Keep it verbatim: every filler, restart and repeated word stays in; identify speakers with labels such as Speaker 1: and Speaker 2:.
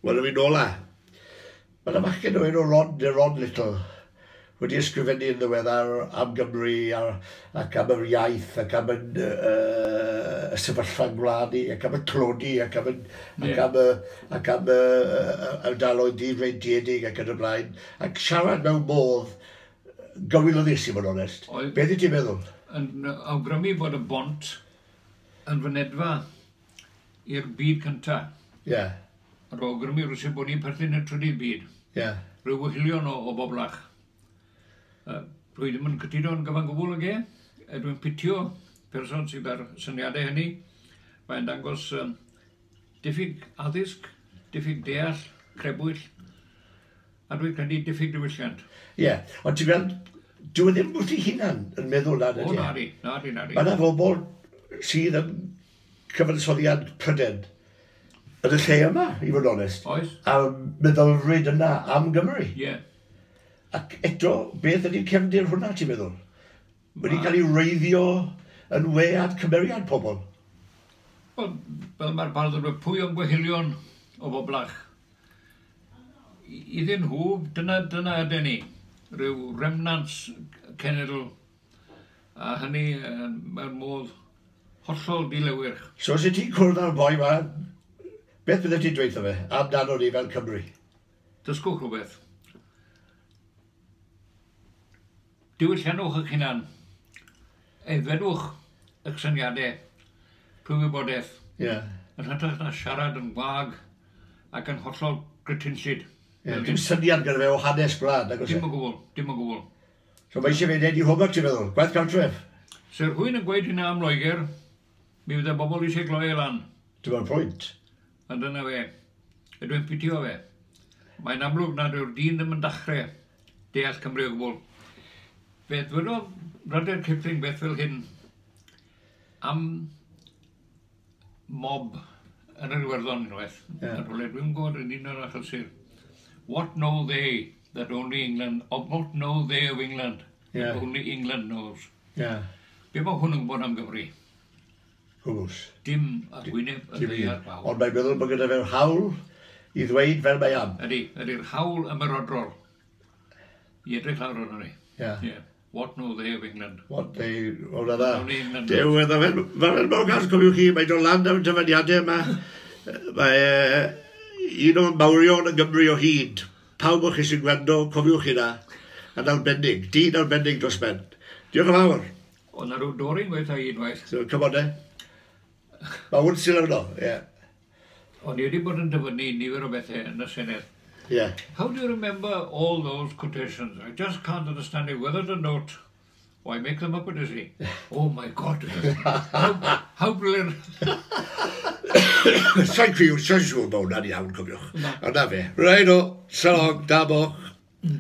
Speaker 1: Wel, y fi'n ola. Mae yna fachgen o enw Rod, neu Rod Little, wedi ysgrifennu yn ddiweddar am Gymru ar, ac am yr iaith ac am y, uh, y sefyllfa gwlad ni ac am y tlodi ac am y, yeah. ac am y, ac am y, ardaloedd difreintiedig ac yn y blaen, ac siarad mewn modd gywilyddus, i fod yn onest. Beth wyt ti'n meddwl?
Speaker 2: Yn awgrymu bod y bont yn fynedfa i'r byd cyntaf.
Speaker 1: Ie. Yeah.
Speaker 2: Yr awgrymu rywsut bod ni'n perthyn i'r trydydd byd.
Speaker 1: Ie. Yeah.
Speaker 2: Rhyw wehilion o, o boblach. Uh, dwi ddim yn cytuno'n gyfan gwbl ag e. E, Dwi'n pitio person sydd ar syniadau hynny. Mae'n dangos um, diffyg addysg, diffyg deall, crebwyll, a dwi'n credu diffyg diwylliant.
Speaker 1: Ie, yeah. Ond ti'n gweld, dyw e ddim wrth ei hunan yn meddwl na,
Speaker 2: O,
Speaker 1: ydy e?
Speaker 2: Nadi, nadi, nadi.
Speaker 1: Mae yna bobl sydd yn cyfansoddiad Pryden yn y lle yma, i fod yn onest.
Speaker 2: Oes?
Speaker 1: A meddylfryd yna am Gymru.
Speaker 2: Ie. Yeah.
Speaker 1: Ac eto, beth ydy'r cefndir hwnna, ti'n meddwl? Wedi cael ei wreiddio yn wead cymeriad pobl.
Speaker 2: Wel, fel mae'r bardd yn dweud, pwy o'n gwehilion o boblach? I- Iddyn nhw, dyna, dyna ydyn ni. Rhyw remnants cenedl, a hynny uh, mewn modd hollol dilewyrch.
Speaker 1: So, os ti'n cwrdd â'r boi ma, beth bydde ti'n dweud fe amdano ni fel Cymru?
Speaker 2: Dysgwch rhywbeth. Diwylliannwch eich hunan. Aeddfedwch eich syniadau trwy wybodaeth.
Speaker 1: Ie. Yeah.
Speaker 2: Yn hytrach na siarad yn wag ac yn hollol grytinllyd.
Speaker 1: Yeah, dim syniad gyda fe o hanes gwlad, nag oes e?
Speaker 2: Dim o gwbl, dim o gwbl.
Speaker 1: So mae eisiau fe wneud i homework, ti'n meddwl? Gwaith cartref?
Speaker 2: Se rhywun yn gweud hynna am Loegr, mi fydde bobl eisiau gloi e lan.
Speaker 1: Dyma'r pwynt.
Speaker 2: A dyna fe. A dwi'n pitio fe. Mae'n amlwg nad yw'r dyn ddim yn dachrau deall Cymru o gwbl. Fe ddwedodd Rudyard Kipling beth fel hyn am mob yn yr Iwerddon unwaith.
Speaker 1: Ie.
Speaker 2: Yn rhywle, dwi'n gwybod yn un o'r achlysur. What know they that only England, or what know they of England
Speaker 1: Ie.
Speaker 2: that only England knows?
Speaker 1: Ie. Yeah.
Speaker 2: Be mae hwn yn gwybod am Gymru?
Speaker 1: Hwws.
Speaker 2: Dim ar wyneb y
Speaker 1: Dim un.
Speaker 2: ddaear fawr.
Speaker 1: Ond mae'n meddwl bod gyda fe'r hawl i ddweud fel mae am.
Speaker 2: Ydy, ydy'r hawl ymerodrol i edrych lawr arno ni.
Speaker 1: Ie.
Speaker 2: Yeah. What know they of England?
Speaker 1: What they... O, na dda.
Speaker 2: Only England
Speaker 1: Dew,
Speaker 2: knows.
Speaker 1: mae fe'n ma fe'n mor gas, cofiwch chi, mae'n dod lan am dyfyniadau yma. Mae e, un o'r mawrion yn Gymru o hyd. Pawb o chi sy'n gwrando, cofiwch chi na. Yn arbennig, dyn arbennig dros ben. Diolch yn fawr.
Speaker 2: Oedd na rhyw dori'n gweithio i unwaith.
Speaker 1: So, come on, eh. Mae hwn sy'n arno, ie.
Speaker 2: O'n i wedi bod yn dyfynnu nifer o bethau yn y Senedd.
Speaker 1: Ie.
Speaker 2: How do you remember all those quotations? I just can't understand it. Whether to note or I make them up, is he? Oh my God. How, how brilliant.
Speaker 1: Sa'n criw, sa'n siŵr bod hwnna'n iawn, cofiwch.
Speaker 2: Na.
Speaker 1: Ond na fe. Right o, so long, da boch.